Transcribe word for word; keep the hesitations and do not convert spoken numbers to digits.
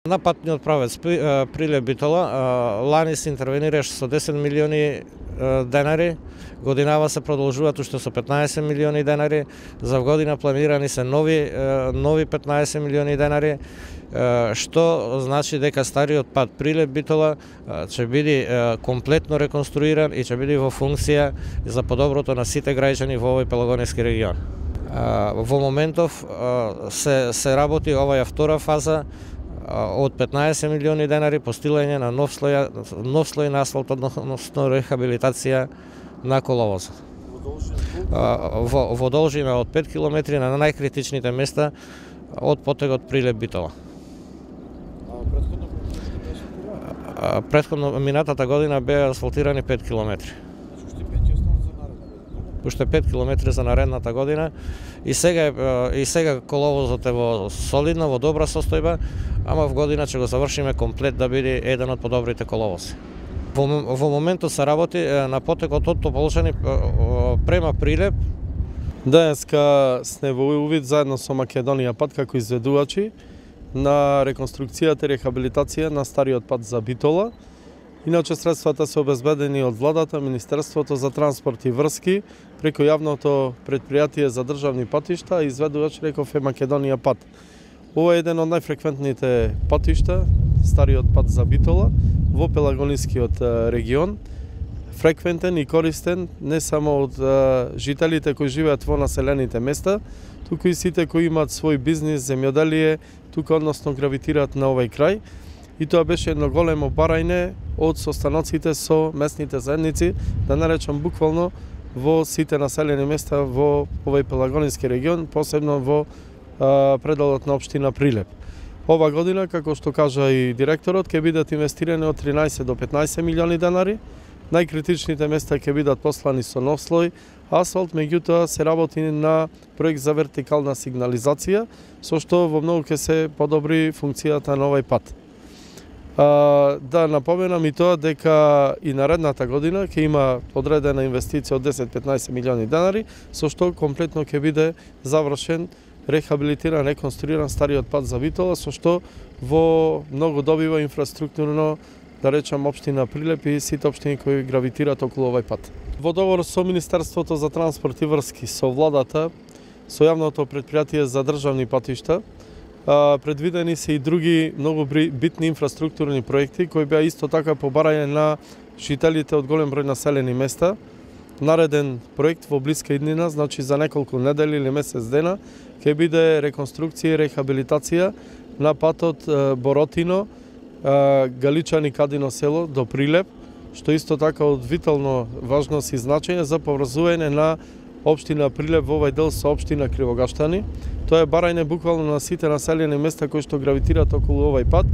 На патниот правец Прилеп Битола лани се интервенираше со десет милиони денари, годинава се продолжуваат уште со петнаесет милиони денари, за година планирани се нови нови петнаесет милиони денари, што значи дека стариот пат Прилеп Битола ќе биде комплетно реконструиран и ќе биде во функција за подоброто на сите граѓани во овој пелагонески регион. Во моментов се се работи оваа втора фаза од петнаесет милиони денари постилање на нов слој нов слој на асфалт, односно рехабилитација на коловозот. Во, во должина од пет километри на најкритичните места од потегот Прилеп Битола. Претходно минатата година беа асфалтирани пет километри. Уште пет километри за наредната година и сега и сега коловозот е во солидна, во добра состојба, ама в година ќе го завршиме комплет да биде еден од подобрите коловози. Во, во моментот се работи на потекот од Тополчани према Прилеп. Денеска сме во увид заедно со Македонија пат како изведувачи на реконструкцијата и рехабилитација на стариот пат за Битола. Иначе средствата се обезбедени од владата, Министерството за транспорт и врски, преку јавното предпријатие за државни патишта, изведувач реков е Македонија пат. Ова е еден од најфреквентните патишта, стариот пат за Битола, во пелагонискиот регион. Фреквентен и користен не само од жителите кои живеат во населените места, туку и сите кои имаат свој бизнис, земјоделие, тука односно гравитираат на овој крај. И тоа беше едно големо барање од состаноците со местните заедници, да наречам буквално во сите населени места во овој пелагонски регион, посебно во а, пределот на општина Прилеп. Ова година, како што кажа и директорот, ќе бидат инвестирани од тринаесет до петнаесет милиони денари. Најкритичните места ќе бидат послани со нов слој асфалт, меѓутоа се работи на проект за вертикална сигнализација, со што во многу ќе се подобри функцијата на овој пат. Uh, да напоменам и тоа дека и наредната година ќе има одредена инвестиција од десет до петнаесет милиони денари, со што комплетно ќе биде завршен, рехабилитиран, реконструиран стариот пат за Битола, со што во многу добива инфраструктурно, да речам, општина Прилеп и сите општини кои гравитираат околу овој пат. Во договор со Министерството за транспорт и врски, со владата, со јавното предпријатие за државни патишта, предвидени се и други многу битни инфраструктурни проекти кои беа исто така по барање на жителите од голем број населени места. Нареден проект во блиска иднина, значи за неколку недели или месец дена, ќе биде реконструкција и рехабилитација на патот Боротино, Галичани Кадино село до Прилеп, што исто така од витално важност и значење за поврзување на општина Прилеп во овој дел со општина Кривогаштани. Тоа е барање буквално на сите населени места кои што гравитираат околу овој пат